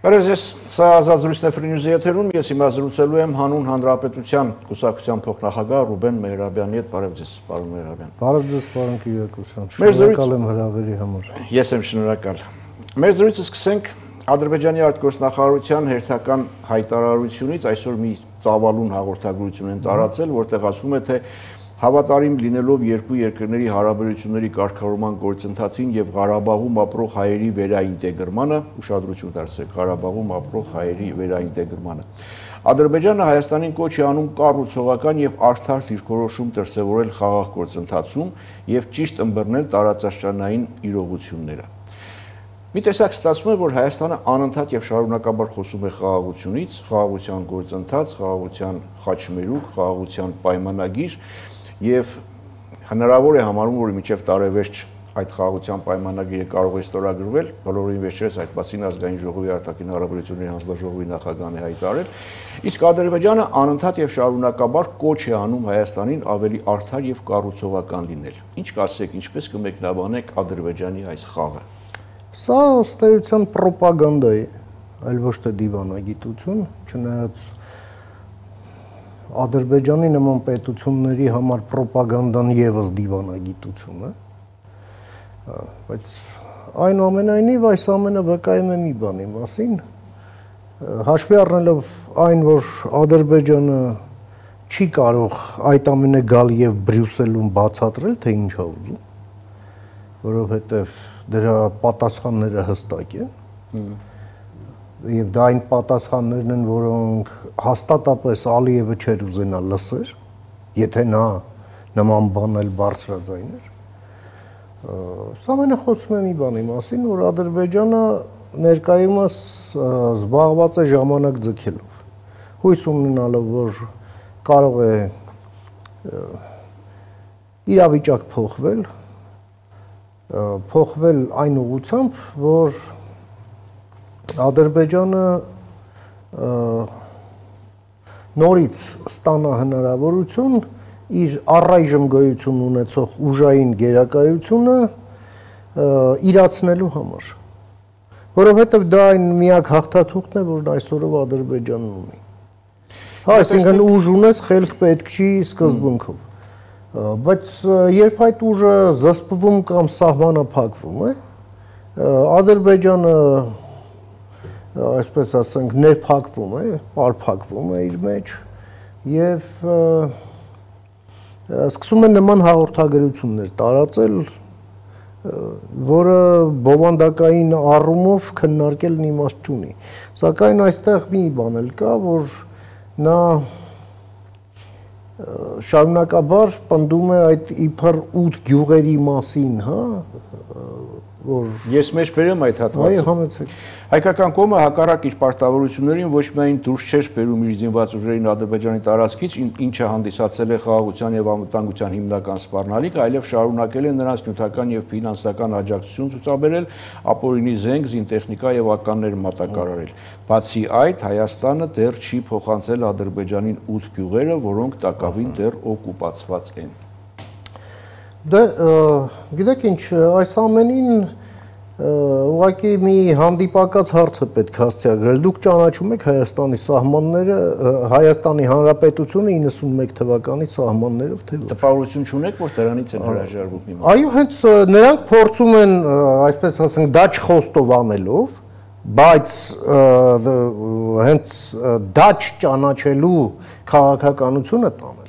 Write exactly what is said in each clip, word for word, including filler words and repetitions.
Բարև ձեզ, սա ազատ զրույցն է Free News-ի եթերում, ես հիմա զրուցելու եմ հանուն Հանրապետության կուսակցության փոխնախագահ Ռուբեն Մեհրաբյանի հետ, բարև ձեզ, պարոն Մեհրաբյան։ Բարև ձեզ, պարոն Կիրակոսյան, շնորհակալ եմ հրավերի համար։ Ես եմ շնորհակալ։ Մեր զրույցը սկսենք Ադրբեջանի արտգործնախարարության հերթական հայտարարությունից, այսօր մի ծավալուն հաղորդագրություն են տարածել, որտեղ ասվում է, թե հավատարիմ լինելով երկու երկրների հարաբերությունների կարգավորման գործընթացին եւ Ղարաբաղում ապրող հայերի վերաինտեգրմանը, ուշադրություն դարձրեք, Ղարաբաղում ապրող հայերի վերաինտեգրմանը։ Ադրբեջանը Հայաստանին կոչ է անում կառուցողական եւ արդար դիրքորոշում դրսեւորել խաղաղ գործընթացում եւ ճիշտ ըմբռնել տարածաշրջանային իրողությունները։ Մի տեսակ ստացվում է, որ Հայաստանը անընդհատ եւ շարունակաբար խոսում է խաղաղությունից, խաղաղության գործընթաց, խաղաղության խաչմերուկ, խաղաղության պայմանագիր եւ հնարավոր է համարում, որ մինչեւ տարեվերջ այդ խաղաղության պայմանագիրը կարող է ստորագրվել, բոլորին վերջերս այդ մասին ազգային ժողովի արտաքին հարաբերությունների հանձնաժողովի նախագահն է հայտարարել, իսկ Ադրբեջանը անընդհատ եւ շարունակաբար կոչ է անում Հայաստանին ավելի արդար եւ կառուցողական լինել։ Ինչ կասեք, ինչպես կմեկնաբանեք Ադրբեջանի այս խաղը։ Սա ըստ էության պրոպագանդա է, այլ ոչ թե դիվանագիտություն, չնայած Ադրբեջանի նման պետությունների համար պրոպագանդան եւս դիվանագիտություն է, բայց այնուամենայնիվ այս ամենը վկայում է մի բանի մասին, հաշվի առնելով այն, որ Ադրբեջանը չի կարող այդ ամենը գալ եւ Բրյուսելում բացատրել, թե ինչ է ուզում, որովհետեւ դրա պատասխանները հստակ են եւ դա այն պատասխաններն են, որոնք հաստատապես Ալիևը չէր ուզենա լսեր, եթե նա նման բան էլ բարձրաձայներ։ Սա ամենը խոսում է մի բանի մասին, որ Ադրբեջանը ներկայումս զբաղված է ժամանակ ձգելով, հույս ունենալով, որ կարող է իրավիճակ փոխվել, փոխվել այն ուղղությամբ, որ Ադրբեջանը նորից ստանա հնարավորություն իր առայժմ գոյություն ունեցող ուժային գերակայությունը իրացնելու համար, որովհետև դա այն միակ հաղթաթուղթն է, որն այսօրով Ադրբեջանն ունի։ Հա, այսինքն ուժ ունես, խելք պետք չի սկզբունքով, բայց երբ այդ ուժը զսպվում կամ սահմանափակվում է, Ադրբեջանը այսպես ասենք ներփակվում է, պարփակվում է իր մեջ եւ սկսում է նման հաղորդագրություններ տարածել, որը բովանդակային առումով քննարկելն իմաստ չունի։ Սակայն այստեղ մի բան էլ կա, որ նա շարունակաբար պնդում է այդ իբր ութ գյուղերի մասին, հա, որ ես մեջ բերեմ այդ հատվածը։ Այո, համեցեք։ Հայկական կողմը հակառակ իր պարտավորություններին ոչ միայն դուրս չէր բերում իր զինված ուժերին Ադրբեջանի տարածքից, ինչը հանդիսացել է խաղաղության եւ անվտանգության հիմնական սպառնալիք, այլև շարունակել է նրանց նյութական եւ ֆինանսական աջակցություն ցուցաբերել, ապօրինի զենք, զինտեխնիկա եւ ականներ մատակարարել։ Բացի այդ, Հայաստանը դեռ չի փոխանցել Ադրբեջանին ութ գյուղերը, որոնք տակավին դեռ օկուպացված են։ Դե, գիտեք ինչ, այս ամենին ուղղակի մի հանդիպակաց հարց է պետք հասցեագրել։ Դուք ճանաչում եք Հայաստանի սահմանները, Հայաստանի Հանրապետությունը իննսունմեկ թվականի սահմաններով, թե ոչ։ Տպավորություն չունեք, որ դրանից են հրաժարվում հիմա։ Այո, հենց նրանք փորձում են, այսպես ասենք, դա չխոստով անելով, բայց հենց դա չճանաչելու քաղաքականությունը տանել։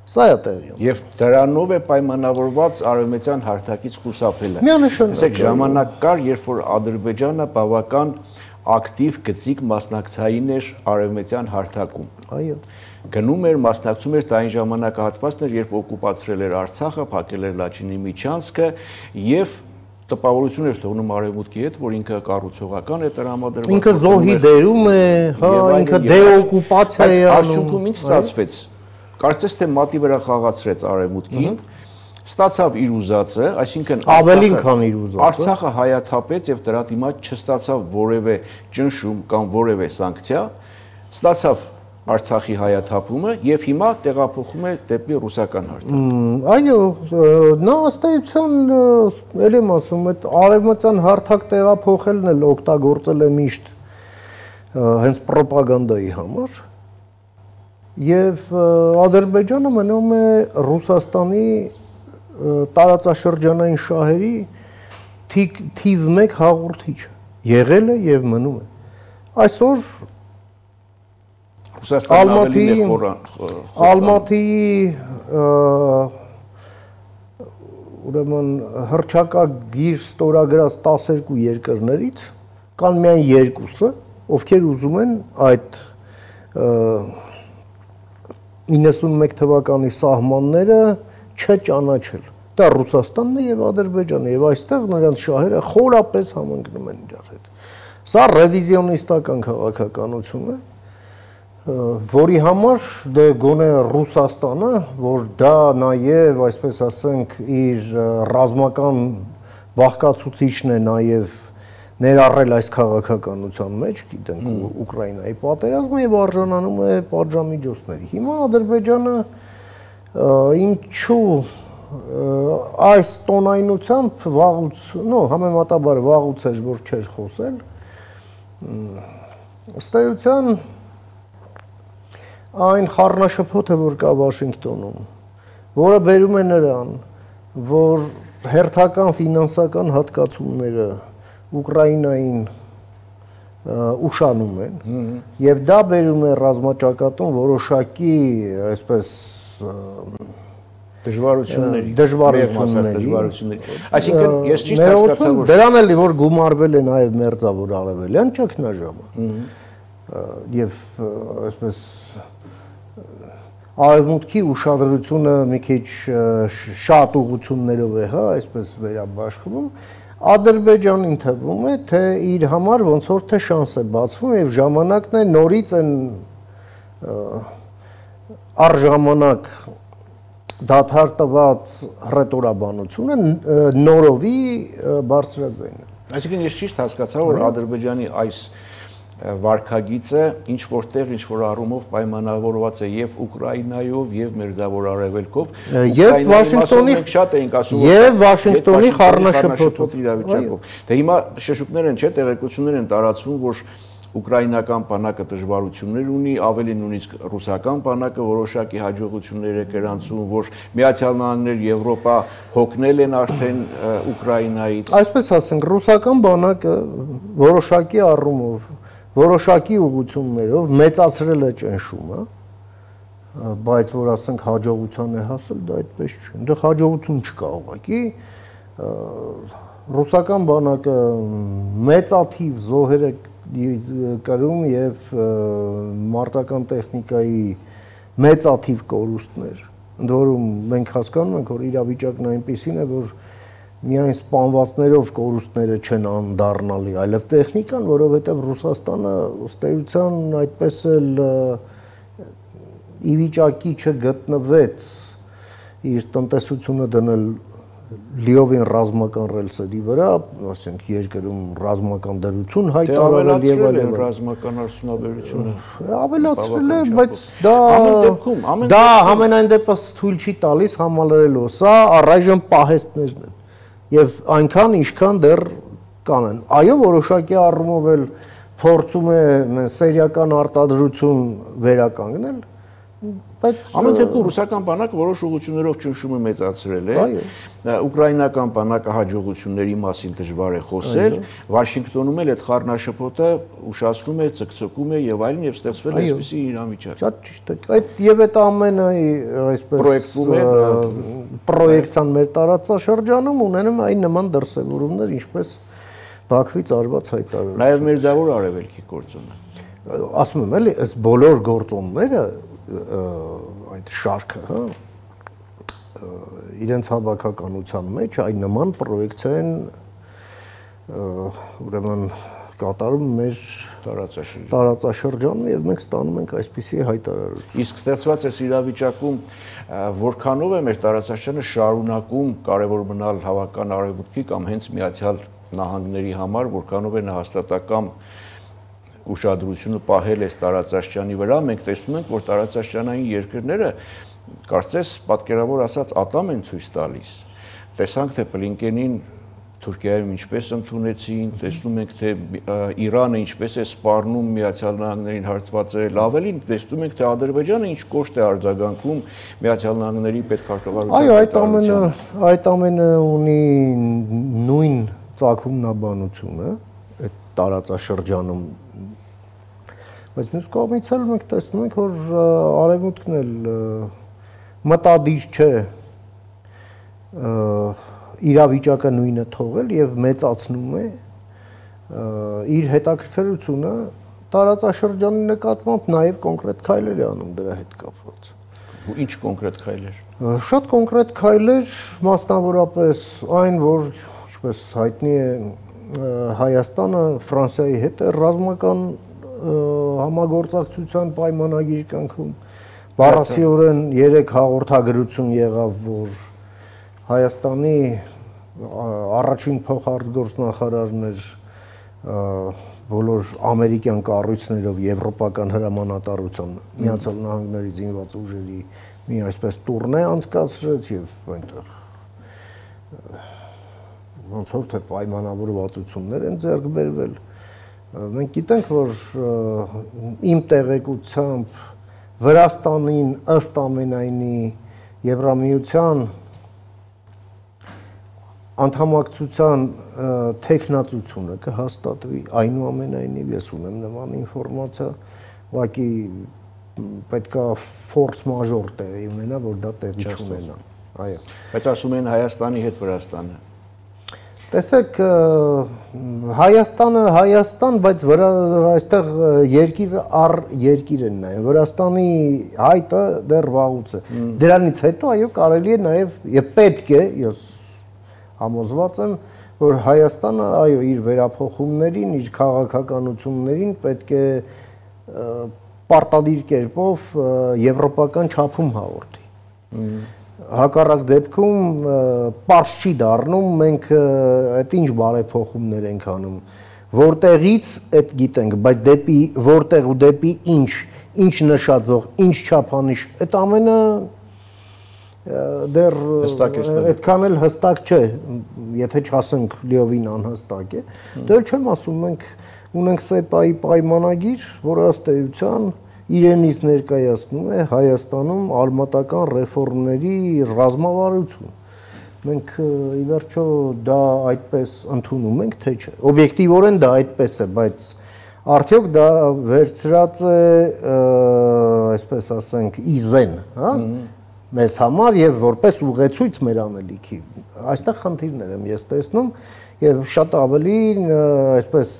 Սա է տեղի ունենում։ Եվ դրանով է պայմանավորված արևմտյան հարթակից խուսափելը։ Միանշանակ։ Տեսեք, ժամանակ կար, երբ որ Ադրբեջանը բավական ակտիվ գծիկ մասնակցային էր արևմտյան հարթակում։ Այո։ Գնում էր, մասնակցում էր դա այն ժամանակահատվածն էր, երբ օկուպացրել էր Արցախը, փակել էր Լաչինի միջանցքը եւ տպավորություն էր թողնում արևմուտքի հետ, որ ինքը կառուցողական է տրամադրված։ Ինքը զոհի դերում է, հա, ինքը դեօկուպացիա է անում։ Արդյունքում ինչ ստացվեց։ Կարծես թե մատի վրա խաղացրեց արևմուտքին, ստացավ իր ուզածը, այսինքն ավելին քան իր ուզածը։ Արցախը հայաթափեց եւ դրա դիմաց չստացավ որևէ ճնշում կամ որևէ սանկցիա, ստացավ Արցախի հայաթափումը եւ հիմա տեղափոխում է դեպի ռուսական հարթակ։ Այո, նա ըստ էության, ել եմ ասում, այդ արևմտյան հարթակ տեղափոխելն էլ օգտագործել է միշտ հենց ռոպագանդայի համար եւ Ադրբեջանը մնում է Ռուսաստանի տարածաշրջանային շահերի թիվ մեկ հաղորդիչը, եղել է եւ մնում է։ Այսօր Ռուսաստանն ավելի է Ալմատիի ուրեմն հռչակագիր ստորագրած տասներկու երկրներից կան միայն երկուսը, ովքեր ուզում են այդ իննսունմեկ թվականի սահմանները չճանաչել։ Դա Ռուսաստանն է եւ Ադրբեջանը եւ այստեղ նրանց շահերը խորապես համընկնում են իրար հետ։ Սա ռևիզիոնիստական քաղաքականություն է, որի համար դե գոնե Ռուսաստանը, որ դա նաեւ, այսպես ասենք, իր ռազմական բաղկացուցիչն է նաեւ ներառել այս քաղաքականության մեջ, գիտենք Ուկրաինայի պատերազմը եւ արժանանում է պատժամիջոցների։ Հիմա Ադրբեջանը ինչու այս տոնայնությամբ վաղուց, նո, համեմատաբար վաղուց էր, որ չէր խոսել, ըստ էության այն խառնաշփոթը, որ կա Վաշինգտոնում, որը բերում է նրան, որ հերթական ֆինանսական հատկացումները Ուկրաինային ուշանում են եւ դա բերում է ռազմաճակատում որոշակի, այսպես դժվարությունների, դժվարությունների, այսինքն ես ճիշտ հասկացա, որ դրան էլի որ գումարվել է նաեւ մերձավոր արևելյան ճգնաժամը եւ այսպես արևմուտքի ուշադրությունը մի քիչ շատ ուղղություններով է, հա, այսպես վերաբաշխվում, Ադրբեջանին թվում է, թե իր համար ոնց որ թե շանս է բացվում եւ ժամանակն է նորից այն առժամանակ դադար տված ռետորաբանությունը նորովի բարձրաձայն։ Այսինքն ես ճիշտ հասկացա, որ Ադրբեջանի այս վարքագիծը ինչ որտեղ ինչ որ առումով պայմանավորված է եւ Ուկրաինայով եւ Մերձավոր Արևելքով, եւ Վաշինգտոնի շատ էինք ասում, եւ Վաշինգտոնի խառնաշփոթ իրավիճակով։ Դե հիմա շշուկներ են, չէ, տեղեկություններ են տարածվում, որ ուկրաինական բանակը դժվարություններ ունի, ավելի նույնիսկ ռուսական բանակը որոշակի հաջողություններ է գրանցում, որ Միացյալ Նահանգներ, Եվրոպա հոգնել են արդեն Ուկրաինայից։ Այսպես ասենք, ռուսական բանակը որոշակի առումով, որոշակի ուղղություններով մեծացրել է ճնշումը, բայց որ ասենք հաջողության է հասել, դա այդպես չէ։ Այնտեղ հաջողություն չկա ուղղակի։ Ռուսական բանակը մեծաթիվ զոհեր է կրում եւ մարտական տեխնիկայի մեծաթիվ կորուստներ, ընդ որում մենք հասկանում ենք, որ իրավիճակն այնպեսին է, որ միայն սպանվածներով կորուստները չեն անդառնալի, այլև տեխնիկան, որովհետեւ Ռուսաստանը ըստ էության այդպես էլ ի վիճակի չգտնվեց իր տնտեսությունը դնել լիովին ռազմական ռելսերի վրա, ասենք երկրում ռազմական դրություն հայտարարել եւ այլն, ռազմական արդյունաբերությունը ավելացրել է, բայց դա դա ամենայն դեպս թույլ չի տալիս համալրելու, սա առայժմ պահեստներն են եւ այնքան ինչքան դեռ կանեն։ Այո, որոշակի առումով էլ փորձում է սերիական արտադրություն վերականգնել, բայց ամեն դեպքում ռուսական բանակը որոշ ուղղություններով ճնշումը մեծացրել է, ուկրաինական բանակը հաջողությունների մասին դժվար է խոսել, Վաշինգտոնում էլ այդ խառնաշփոթը ուշացնում է, ցկցկում է եւ այլն եւ ստեղծվել է այսպիսի իրավիճակ։ Շատ ճիշտ է։ Այդ եւ այդ ամենը այսպես պրոյեկտում է պրոյեկցիան մեր տարածաշրջանում ունենում այն նման դրսևորումներ, ինչպես Բաքվից արված հայտարարություն։ Նաեւ Մերձավոր Արևելքի գործոնը։ Ասում եմ էլի, այս բոլոր գործոնները այդ շարքը, հա, իրենց հավաքականության մեջ այն նման պրոյեկցիա են ուրեմն կատարում մեր տարածաշրջանում եւ մենք ստանում ենք այսպիսի հայտարարություն։ Իսկ ստեղծված է իրավիճակում որքանով է մեր տարածաշրջանը շարունակում կարևոր մնալ հավաքական արևմուտքի կամ հենց Միացյալ Նահանգների համար, որքանով է հաստատակամ ուշադրությունը պահել այս տարածաշրջանի վրա, մենք տեսնում ենք, որ տարածաշրջանային երկրները կարծես պատկերավոր ասած ատամ են ցույց տալիս։ Տեսանք, թե Բլինկենին Թուրքիայում ինչպես ընդունեցին, տեսնում ենք թե Իրանը ինչպես է սպառնում Միացյալ Նահանգներին հարցվածել, ավելին տեսնում ենք թե Ադրբեջանը ինչ կոշտ է արձագանքում Միացյալ Նահանգների պետքարտուղարության։ Այո, այդ ամենը այդ ամենը ունի նույն ծագումնաբանությունը այդ տարածաշրջանում, բայց մյուս կողմից էլ մենք տեսնում ենք, որ Արևմուտքն էլ մտադիր չէ իրավիճակը նույնը թողել եւ մեծացնում է իր հետաքրքրությունը տարածաշրջանի նկատմամբ, նաեւ կոնկրետ քայլեր է անում դրա հետ կապված։ Ու ինչ կոնկրետ քայլեր։ Շատ կոնկրետ քայլեր, մասնավորապես այն, որ ինչպես հայտնի է, Հայաստանը Ֆրանսիայի հետ է ռազմական համագործակցության պայմանագիր կնքում։ Բառացիորեն երեք հաղորդագրություն եղավ, որ Հայաստանի առաջին փոխարտգործնախարարն էր բոլոր ամերիկյան կառույցներով եվրոպական հրամանատարության Միացյալ Նահանգների զինված ուժերի մի այսպես տուրնե անցկացրեց եւ այնտեղ ոնց որ թե պայմանավորվածություններ են ձեռք բերվել։ Մենք գիտենք, որ իմ տեղեկությամբ Վրաստանին ըստ ամենայնի Եվրամիության անդամակցության տեխնացությունը կհաստատվի, այնուամենայնիվ ես ունեմ նման ինֆորմացիա, ուղղակի պետքա ֆորս մաժոր տեղի ունենա, որ դա տեղի չունենա։ Այո։ Բայց ասում են Հայաստանի հետ Վրաստանը։ Տեսեք, Հայաստանը Հայաստան, բայց այստեղ երկիր առ երկիր են նայում։ Վրաստանի հայտը դեռ վաղուց է։ Դրանից հետո այո կարելի է նաև եւ պետք է, ես համոզված եմ, որ Հայաստանը այո իր վերափոխումներին, իր քաղաքականություններին պետք է պարտադիր կերպով եվրոպական չափում հաղորդի։ Հակառակ դեպքում պարզ չի դառնում, մենք այդ ինչ բարեփոխումներ ենք անում, որտեղից այդ գիտենք, բայց դեպի որտեղ ու դեպի ինչ, ինչ նշաձող, ինչ չափանիշ, այդ ամենը դեռ այդքան էլ հստակ չէ, եթե չասենք լիովին անհստակ է, դեռ չեմ ասում, մենք ունենք սեպայի պայմանագիր, որը ըստ էության իրենից ներկայացնում է Հայաստանում արմատական ռեֆորմների ռազմավարություն։ Մենք ի վերջո դա այդպես ընդունում ենք, թե չէ։ Օբյեկտիվորեն դա այդպես է, բայց արդյոք դա վերցրած է, այսպես ասենք, իզեն, հա, մեզ համար եւ որպես ուղեցույց մեր անելիքի։ Այստեղ խնդիրներ եմ ես տեսնում եւ շատ ավելի այսպես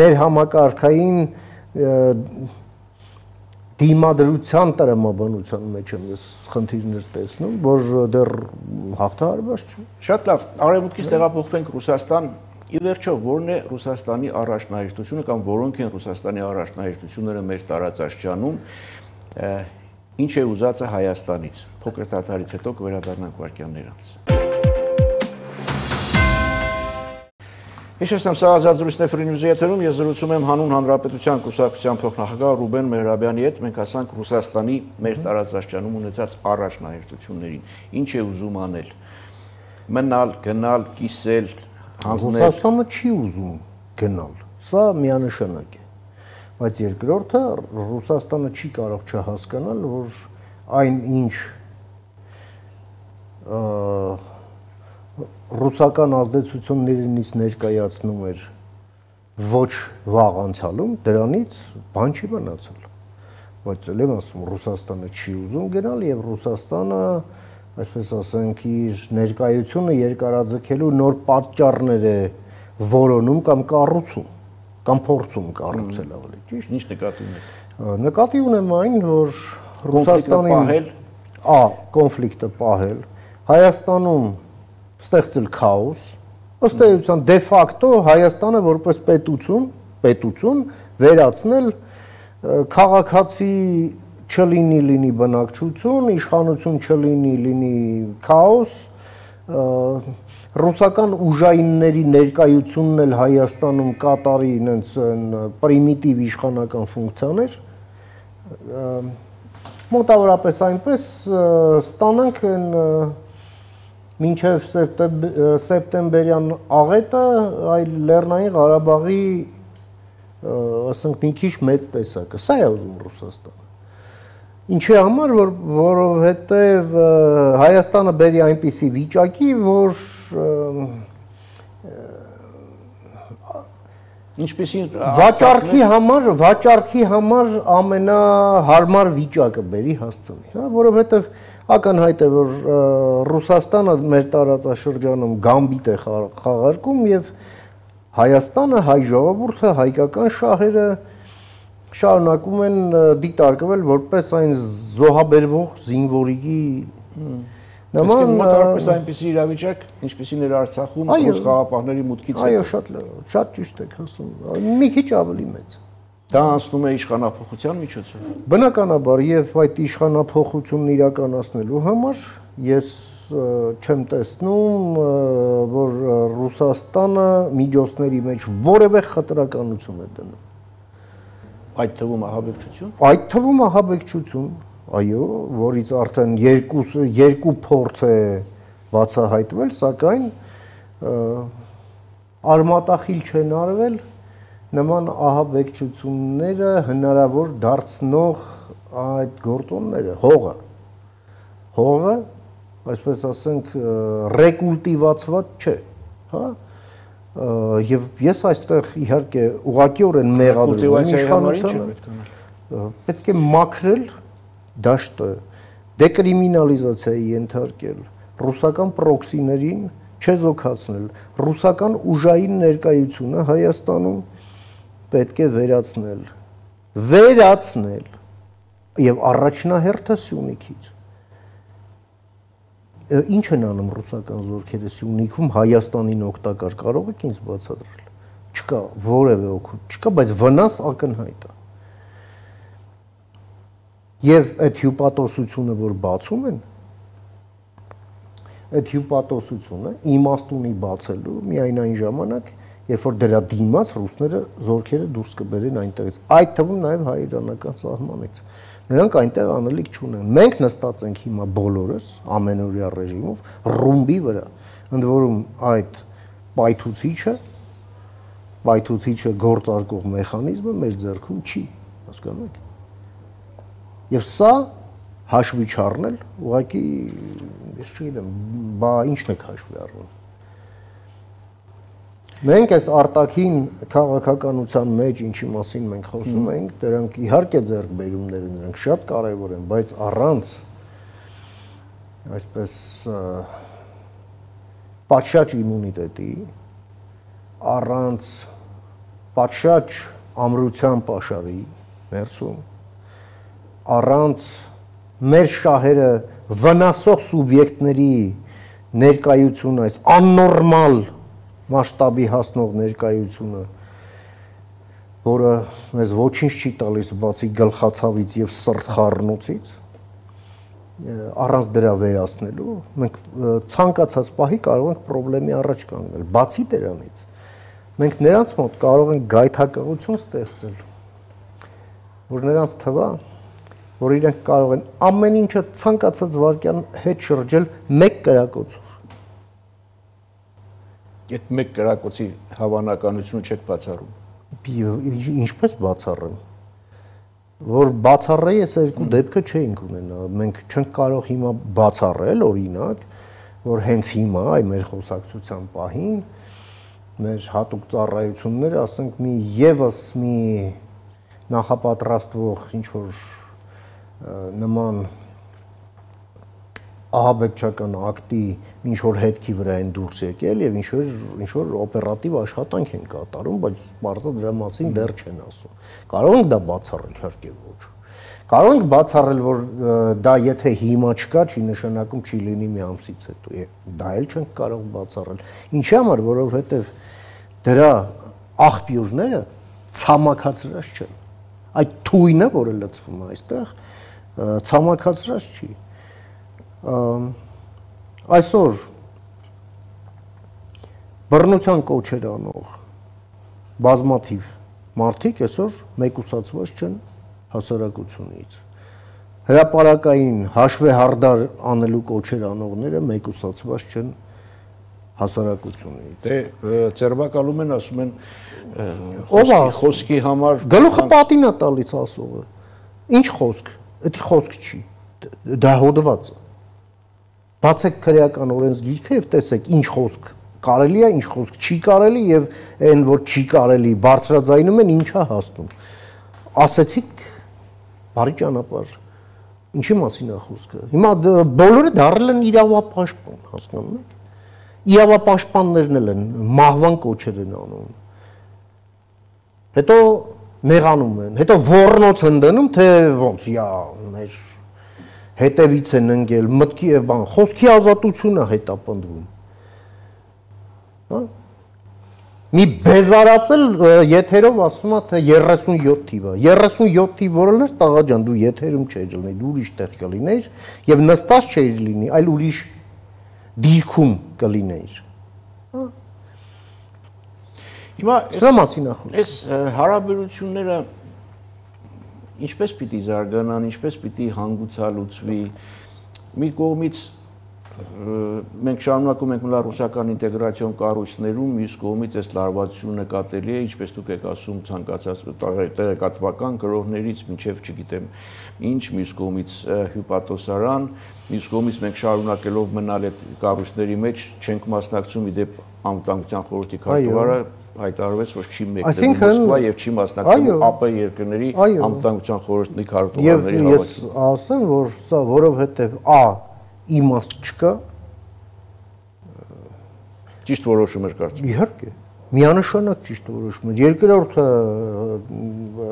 ներհամակարգային դիմադրության տրամաբանության մեջ եմ ես խնդիրներ տեսնում, որ դեռ հաղթահարված չէ։ Շատ լավ, արևմուտքից տեղափոխվենք Ռուսաստան։ Ի վերջո, ո՞րն է Ռուսաստանի առաջնահերթությունը կամ որոնք են Ռուսաստանի առաջնահերթությունները մեր տարածաշրջանում, ինչ է ուզածը Հայաստանից։ Փոքր դադարից հետո կվերադառնանք վայրկյաններ անց։ Հիշեցնեմ, սա ազատ զրույցն է Free News-ի եթերում, ես զրուցում եմ Հանուն Հանրապետության կուսակցության փոխնախագահ Ռուբեն Մեհրաբյանի հետ, մենք ասանք Ռուսաստանի մեր տարածաշրջանում ունեցած առաջնահերթություններին, ինչ է ուզում անել։ Մնալ, գնալ, կիսել, հանձնել։ Ռուսաստանը չի ուզում գնալ, սա միանշանակ է, բայց երկրորդը Ռուսաստանը չի կարող չհասկանալ, որ այն ինչ ռուսական ազդեցություններից ներկայացնում էր ոչ վաղ անցյալում, դրանից բան չի մնացել։ Բայց ել եմ ասում, Ռուսաստանը չի ուզում գնալ եւ Ռուսաստանը, այսպես ասենք, իր ներկայությունը երկարաձգելու նոր պատճառներ է որոնում կամ կառուցում, կամ փորձում կառուցել ավելի ճիշտ։ Ինչ նկատի ունեք։ Նկատի ունեմ այն, որ Ռուսաստանի պահել, ա, կոնֆլիկտը պահել, Հայաստանում ստեղծել քաոս, ըստ էության դե ֆակտո Հայաստանը որպես պետություն, պետություն վերացնել քաղաքացի չլինի լինի բնակչություն, իշխանություն չլինի լինի քաոս, ռուսական ուժայինների ներկայությունն էլ Հայաստանում կատարի ինձ պրիմիտիվ իշխանական ֆունկցիաներ, մոտավորապես այնպես ստանանք մինչև սեպտեմբերյան աղետը այլ Լեռնային Ղարաբաղի ասենք մի քիչ մեծ տեսակը, սա է ուզում Ռուսաստանը։ Ինչի համար, որ որովհետև Հայաստանը բերի այնպիսի վիճակի, որ ինչպեսին վաճառքի համար, վաճառքի համար ամենահարմար վիճակը բերի հասցնի, հա, որովհետև ակնհայտ է, որ Ռուսաստանը մեր տարածաշրջանում գամբիտ է խաղարկում եւ Հայաստանը, հայ ժողովուրդը, հայկական շահերը շարունակում են դիտարկվել որպես այն զոհաբերվող զինվորի նման մոտավորապես այնպիսի իրավիճակ, ինչպեսին էր Արցախում ռուս խաղապահների մուտքից հետո։ Այո, շատ շատ ճիշտ եք ասում, մի քիչ ավելի մեծ։ Դա անցնում է իշխանափոխության միջոցով։ Բնականաբար, եւ այդ իշխանափոխությունն իրականացնելու համար ես չեմ տեսնում, որ Ռուսաստանը միջոցների մեջ որևէ խտրականություն է դնում։ Այդ թվում ահաբեկչություն։ Այդ թվում ահաբեկչություն, այո, որից արդեն երկու երկու փորձ է բացահայտվել, սակայն արմատախիլ չեն արվել նման ահաբեկչությունները հնարավոր դարձնող այդ գործոնները, հողը, հողը, այսպես ասենք, ռեկուլտիվացված չէ, հա, եւ ես այստեղ իհարկե ուղղակիորեն մեղադրում եմ իշխանությանը, պետք է մաքրել դաշտը, դեկրիմինալիզացիայի ենթարկել, ռուսական պրոքսիներին չեզոքացնել, ռուսական ուժային ներկայությունը Հայաստանում պետք է վերացնել, վերացնել եւ առաջնահերթը Սյունիքից։ Ինչ են անում ռուսական զորքերը Սյունիքում Հայաստանին օգտակար, կարող եք ինձ բացատրել։ Չկա որևէ օգուտ, չկա, բայց վնաս ակնհայտ է։ Եվ այդ հյուպատոսությունը, որ բացում են, այդ հյուպատոսությունը իմաստունի բացելու միայն այն ժամանակ, երբ որ դրա դիմաց ռուսները զորքերը դուրս կբերեն այնտեղից, այդ թվում նաև հայ-իրանական սահմանից։ Նրանք այնտեղ անելիք չունեն։ Մենք նստած ենք հիմա բոլորս ամենօրյա ռեժիմով ռումբի վրա, ընդ որում այդ պայթուցիչը, պայթուցիչը գործարկող մեխանիզմը մեր ձեռքում չի, հասկանում եք։ Եվ սա հաշվի չառնել, ուղղակի ես չգիտեմ, բա ի՞նչն եք հաշվի առնում։ Մենք այս արտաքին քաղաքականության մեջ ինչի մասին մենք խոսում ենք, դրանք իհարկե ձեռքբերումներ են, դրանք շատ կարևոր են, բայց առանց այսպես պատշաճ իմունիտետի, առանց պատշաճ ամրության պաշարի ներսում, առանց մեր շահերը վնասող սուբյեկտների ներկայություն այս աննորմալ մասշտաբի հասնող ներկայությունը, որը մեզ ոչինչ չի տալիս բացի գլխացավից եւ սրտխառնոցից, առանց դրա վերացնելու, մենք ցանկացած պահի կարող ենք խնդրի առաջ կանգնել։ Բացի դրանից, մենք նրանց մոտ կարող ենք գայթակղություն ստեղծել, որ նրանց թվա, որ իրենք կարող են ամեն ինչը ցանկացած վարքյան հետ շրջել մեկ կրակոցով։ Այդ մեկ կրակոցի հավանականությունը չեք բացառում։ Ինչպես բացառեմ։ Որ բացառեի այս երկու դեպքը չէինք ունենա։ Մենք չենք կարող հիմա բացառել, օրինակ, որ հենց հիմա, այ մեր խոսակցության պահին, մեր հատուկ ծառայությունները, ասենք, մի եւս մի նախապատրաստվող ինչ որ նման ահաբեկչական ակտի ինչ որ հետքի վրա են դուրս եկել եւ ինչ որ ինչ որ օպերատիվ աշխատանք են կատարում, բայց բարձր դրա մասին դեռ չեն ասում։ Կարող ենք դա բացառել, իհարկե ոչ։ Կարող ենք բացառել, որ դա եթե հիմա չկա, չի նշանակում չի լինի մի ամսից հետո։ Դա էլ չենք կարող բացառել։ Ինչի համար, որովհետեւ դրա աղբյուրները ցամաքացրած չեն։ Այդ թույնը, որը լցվում է այստեղ, ցամաքացրած չի։ Այսօր բռնության կոչեր անող բազմաթիվ մարդիկ այսօր մեկուսացված չեն հասարակությունից։ հրապարակային հաշվեհարդար անելու կոչեր անողները մեկուսացված չեն հասարակությունից։ Դե ձերբակալում են, ասում են ով է խոսքի համար գլուխը պատին է տալիս ասողը։ Ինչ խոսք, դա խոսք չի, դա հոդված է։ Բացեք քրեական օրենսգիրքը եւ տեսեք ինչ խոսք կարելի է, ինչ խոսք չի կարելի եւ այն որ չի կարելի բարձրաձայնում են ինչա հասնում։ Ասեցիք բարի ճանապարհ։ Ինչի մասին է խոսքը։ Հիմա բոլորը դառել են իրավապաշտպան, հասկանում եք։ Իրավապաշտպաններն էլ են մահվան կոչեր են անում։ Հետո մեղանում են, հետո ոռնոց են դնում, թե ոնց, յա, մեր հետևից են ընկել, մտքի եւ բան, խոսքի ազատությունը հետապնդվում։ Հա։ Մի բեզարացել եթերով ասում է թե երեսունյոթ թիվը։ երեսունյոթ թիվ որն էր, տղա ջան, դու եթերում չէր լինի, դու ուրիշ տեղ կլինեիր եւ նստած չէիր լինի, այլ ուրիշ դիրքում կլինեիր։ Հա։ Հիմա սրա մասին է խոսքը։ Այս հարաբերությունները ինչպես պիտի զարգանան, ինչպես պիտի հանգուցալուծվի։ Մի կողմից մենք շարունակում ենք մնալ ռուսական ինտեգրացիոն կառույցներում, մյուս կողմից այս լարվածությունը նկատելի է, ինչպես դուք եք ասում, ցանկացած տեղեկատվական գրողներից մինչև չգիտեմ ինչ, մյուս կողմից հյուպատոսարան, մյուս կողմից մենք շարունակելով մնալ այդ կառույցների մեջ չենք մասնակցում իդեպ անվտանգության խորհրդի քարտուղարը հայտարարվեց, որ չի մեկնելու Մոսկվա եւ չի մասնակցելու ԱՊ երկրների անվտանգության խորհրդի քարտուղարների հավաքին։ Ես ասեմ, որ սա որովհետեւ ա իմաստ չկա, ճիշտ որոշում էր կարծում։ Իհարկե, միանշանակ ճիշտ որոշում էր։ Երկրորդը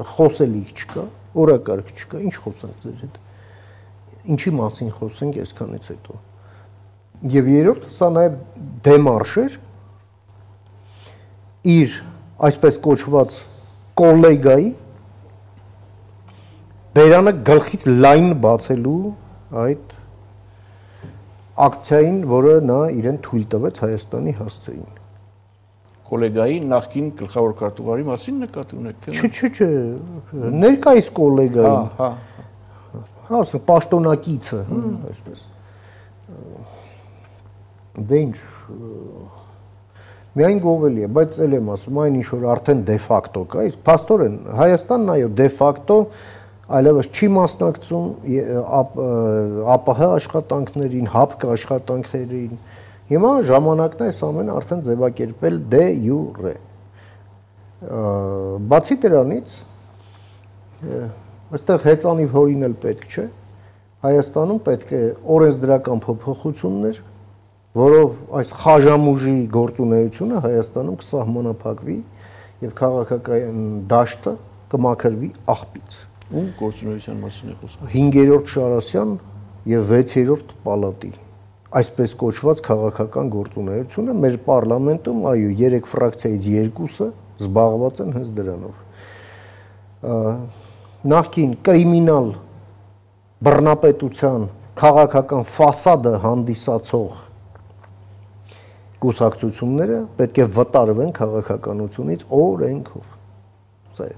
խոսելիք չկա, օրակարգ չկա, ինչ խոսանք ձեր հետ։ Ինչի մասին խոսենք այսքանից հետո։ Եվ երրորդը սա նաև դեմարշ էր իր այսպես կոչված կոլեգայի բերանը գլխից լայն բացելու այդ ակցիային, որը նա իրեն թույլ տվեց Հայաստանի հասցեին։ Կոլեգայի նախկին գլխավոր քարտուղարի մասին նկատի ունեք թե։ Չէ, չէ, չէ, ներկայիս կոլեգային։ Հա, հա։ Ասա պաշտոնակիցը, այսպես։ Դե ինչ միայն գովելի է, բայց էլ եմ ասում, այն ինչ որ արդեն դե ֆակտո կա, իսկ փաստորեն Հայաստանն այո դե ֆակտո այլևս չի մասնակցում ԱՊՀ աշխատանքներին, ՀԱՊԿ աշխատանքներին։ Հիմա ժամանակն է այս ամենը արդեն ձևակերպել դե յուրե։ Բացի դրանից, այստեղ հեծանիվ հորինել պետք չէ, Հայաստանում պետք է օրենսդրական փոփոխություններ, որով այս խաժամուժի գործունեությունը Հայաստանում կսահմանափակվի եւ քաղաքական դաշտը կմաքրվի աղբից։ Ու գործունեության մասին է խոսքը։ հինգերորդ Շարասյան եւ վեցերորդ պալատի այսպես կոչված քաղաքական գործունեությունը մեր պարլամենտում այո երեք ֆրակցիայից երկուսը զբաղված են հենց դրանով։ Նախկին կրիմինալ բռնապետության քաղաքական ֆասադը հանդիսացող կուսակցությունները պետք է վտարվեն քաղաքականությունից օրենքով։ Սա է։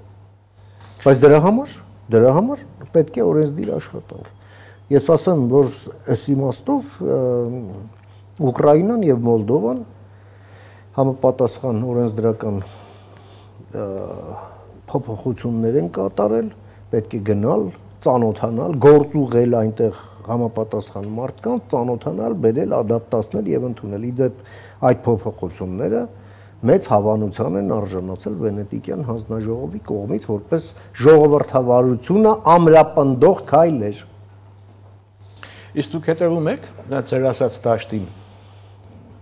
Բայց դրա համար, դրա համար պետք է օրենսդիր աշխատանք։ Ես ասեմ, որ այս իմաստով Ուկրաինան եւ Մոլդովան համապատասխան օրենսդրական փոփոխություններ են կատարել, պետք է գնալ, ծանոթանալ, գործուղել այնտեղ համապատասխան մարդկանց, ծանոթանալ, բերել, ադապտացնել եւ ընդունել։ Իդեպ այդ փոփոխությունները մեծ հավանության են արժանացել Վենետիկյան հանձնաժողովի կողմից որպես ժողովրդավարությունը ամրապնդող քայլ էր։ Իսկ դուք հետևում եք ձեր ասած դաշտին,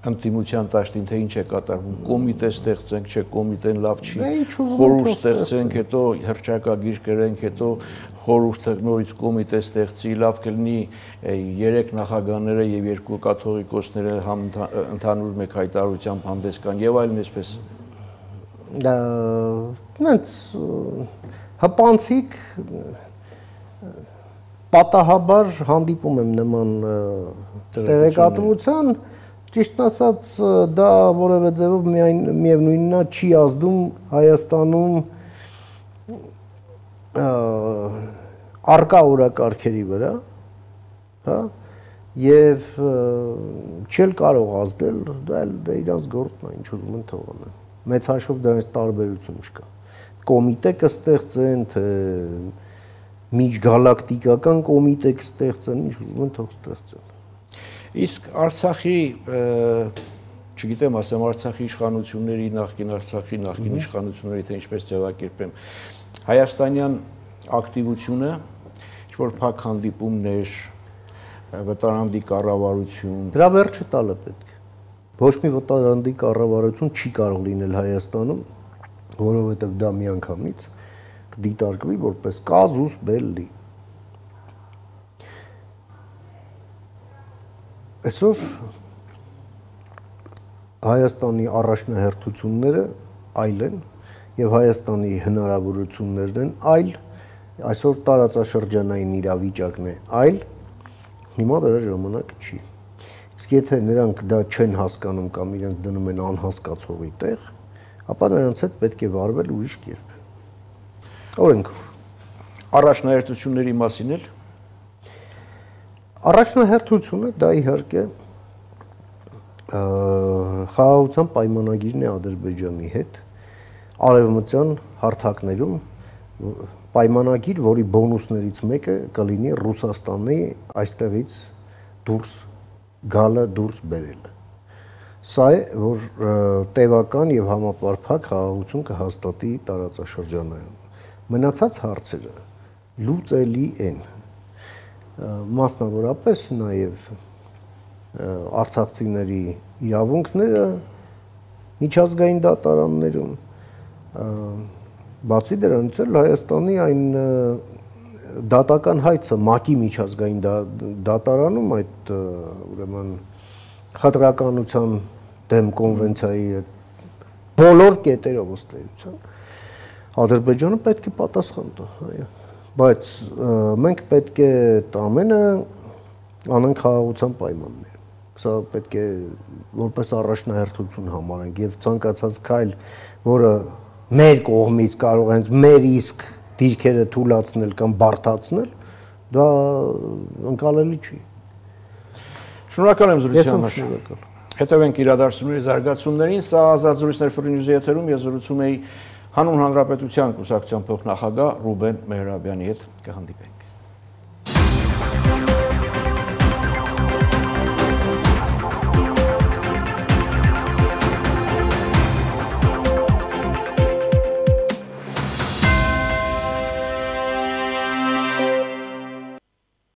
ընդդիմության դաշտին, թե ինչ է կատարվում, կոմիտե ստեղծենք, չէ, կոմիտեն լավ չի, խորհուրդ ստեղծենք, հետո հռչակագիր կրենք, հետո խորհուրդը նորից կոմիտե ստեղծի, լավ կլինի երեք նախագահները եւ երկու կաթողիկոսները ընդհանուր մեկ հայտարարությամբ հանդես կան եւ այլն այսպես։ Դա նենց հպանցիկ պատահաբար հանդիպում եմ նման տեղեկատվության, ճիշտ ասած դա որևէ ձևով միայն միևնույնն է չի ազդում Հայաստանում արկա օրակարգերի վրա, հա, եւ չել կարող ազդել, դա դա իրանց գործն է, ինչ ուզում են թողանեն։ Մեծ հաշվով դրանից տարբերություն չկա։ Կոմիտե կստեղծեն, թե միջգալակտիկական կոմիտե կստեղծեն, ինչ ուզում են թող ստեղծեն։ Իսկ Արցախի, չգիտեմ, ասեմ Արցախի իշխանությունների, նախկին Արցախի, նախկին իշխանությունների, թե ինչպես ձևակերպեմ, հայաստանյան ակտիվությունը, ինչ-որ փակ հանդիպումներ, վտարանդի կառավարություն։ Դրա վերջը տալը պետք է։ Ոչ մի վտարանդի կառավարություն չի կարող լինել Հայաստանում, որովհետև դա միանգամից կդիտարկվի որպես կազուս բելլի։ Այսօր Հայաստանի առաջնահերթությունները այլ են եւ Հայաստանի հնարավորություններն են այլ, այսօր տարածաշրջանային իրավիճակն է այլ, հիմա դրա ժամանակը չի։ Իսկ եթե նրանք դա չեն հասկանում կամ իրենք դնում են անհասկացողի տեղ, ապա նրանց հետ պետք է վարվել ուրիշ կերպ։ Օրենքով։ Առաջնահերթությունների մասին էլ Առաջնահերթությունը դա իհարկե խաղաղության պայմանագիրն է Ադրբեջանի հետ արևմտյան հարթակներում պայմանագիր, որի բոնուսներից մեկը կլինի Ռուսաստանի այստեղից դուրս գալը, դուրս բերելը։ Սա է, որ տևական եւ համապարփակ խաղաղություն կհաստատի տարածաշրջանում։ Մնացած հարցերը լուծելի են։ Մասնավորապես նաեւ արցախցիների իրավունքները միջազգային դատարաններում, բացի դրանից էլ Հայաստանի այն դատական հայցը ՄԱԿ-ի միջազգային դատարանում այդ ուրեմն խտրականության դեմ կոնվենցիայի բոլոր կետերով ըստ էության Ադրբեջանը պետք է պատասխան տա, այո, բայց մենք պետք է ամենը անենք խաղաղության պայմաններ։ Սա պետք է որպես առաջնահերթություն համարենք եւ ցանկացած քայլ, որը մեր կողմից կարող է հենց մեր իսկ դիրքերը թույլաtsնել կամ բարթացնել, դա ընկալելի չի։ Շնորհակալ եմ զրույցի համար։ Հետևենք իրադարձությունների զարգացումներին, սա Ազատ զրույցներ Free News-ի եթերում ես զրուցում էի Հանուն Հանրապետության կուսակցության փոխնախագահ Ռուբեն Մեհրաբյանի հետ, կհանդիպենք։